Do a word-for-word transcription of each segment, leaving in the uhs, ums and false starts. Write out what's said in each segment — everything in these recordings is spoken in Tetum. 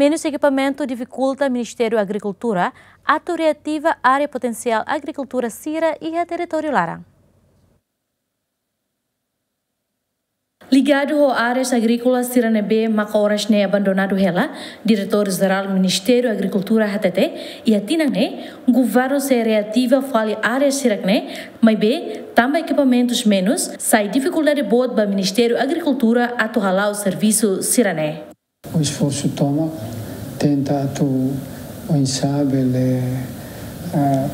Menus ekipamentu difikulta Ministériu Agrikultura atu reativa área potensiál agrikultura sira iha territóriu laran. Ligadu ho áreas agríkolas sira ne'ebé maka oras ne'e abandonadu hela, Diretór Jerál Ministériu Agrikultura hatete, iha tinan ne'e, governu sei reativa fali área sira-ne'e, maibé tanba ekipamentus menus, sai difikuldade boot ba Ministériu Agrikultura atu hala'o servisu sira-ne'e. O esforsu tomak tenta atu oinsá bele, ah,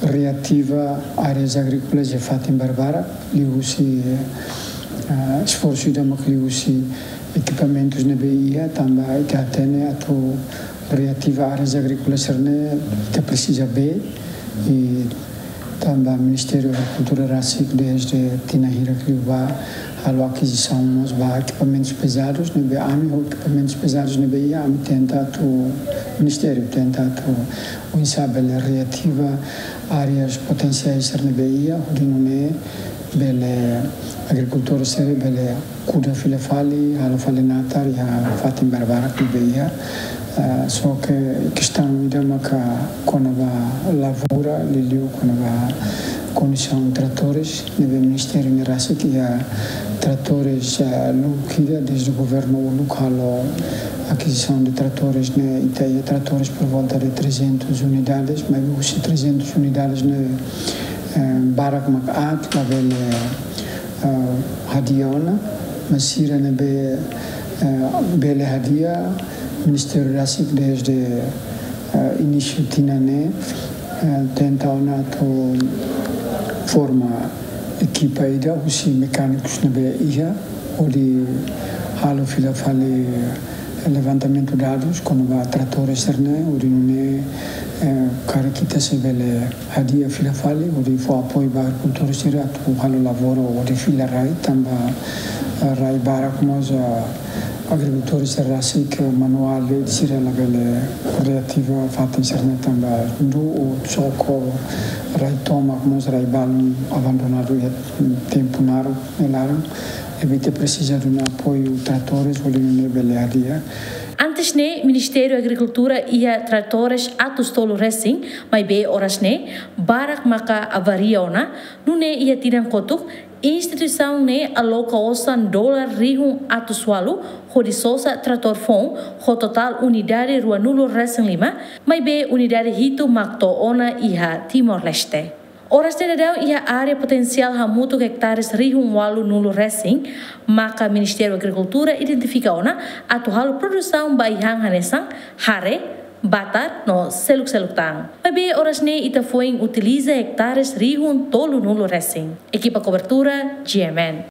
reativa áreas agríkolas iha fatin barbarak, liuhusi, ah, esforsu ida mak liuhusi ekipamentus ne'ebé iha, tanba ita hatene atu reativa áreas agríkolas sira-ne'e ita presiza bee, i tanba Ministériu Agrikultura rasik dezde tinan hirak liubá halo akizisaun mós ba ekipamentus pezadus, ne'ebé ami ho ekipamentus pezadus ne'ebé iha ami tenta atu, Ministériu tenta atu oinsá bele reativa áreas potensiais sira ne'ebé iha, hodi nune'e bele agrikultór sira bele kuda fila fali, halo fali natar iha fatin barbarak ne'ebé iha. Ah, só ke kestaun ida maka kona-ba lavoura, liuliu kona-ba kondisaun tratores, ne'ebé Ministériu ne'e rasik iha tratores, ah, uluk ida dezde governu uluk halo akizisaun de tratores ne'e, ita iha tratores por volta de trezentas unidades, maibé husi trezentas unidades ne'e, eh, barak mak aat, labele, eh, hadi'a ona, mas sira ne'ebé, eh, bele hadi'a, Ministériu rasik dezde, eh, inísiu tinan ne'e, eh, tenta ona atu forma ekipa ida husi mekánikus ne'ebé iha, hodi halo fila fali levantamentu dadus kona-ba tratores sira-ne'e, hodi nune'e, eh, karik ita sei bele hadi'a fila fali, hodi fó apoiu ba agrikultór sira atu halo lavoura hodi fila rai, tanba, eh, rai barak mós, eh, agrikultór sira rasik manuál de'it, sira labele reativa fatin sira-ne'e tanba ndu o soko rai tomak mós rai balun abandonadu iha tempu naruk nia laran, ne'ebé ita presiza duna apoiu tratores hodi nune'e bele hadi'a. Antes ne'e, Ministériu Agrikultura iha tratores atus tolu resin, maibé oras ne'e, barak maka avaria ona, nune'e iha tinan kotuk, instituisaun ne'e aloka osan dolar rihun atus ualu, hodi sosa tratór foun, ho totál unidade ruanulu resin lima, maibé unidade hitu mak to'o ona iha Timor-Leste. Oras ne'e daudaun iha área potensiál hamutuk ektares rihun ualunulu resin, maka Ministériu Agrikultura identifika ona atu halo produsaun ba ai-han hanesan hare, batar no seluk-seluk tan. Maibé oras ne'e ita foin utiliza ektares rihun tolunulu resin. Ekipa kobertura, G M N.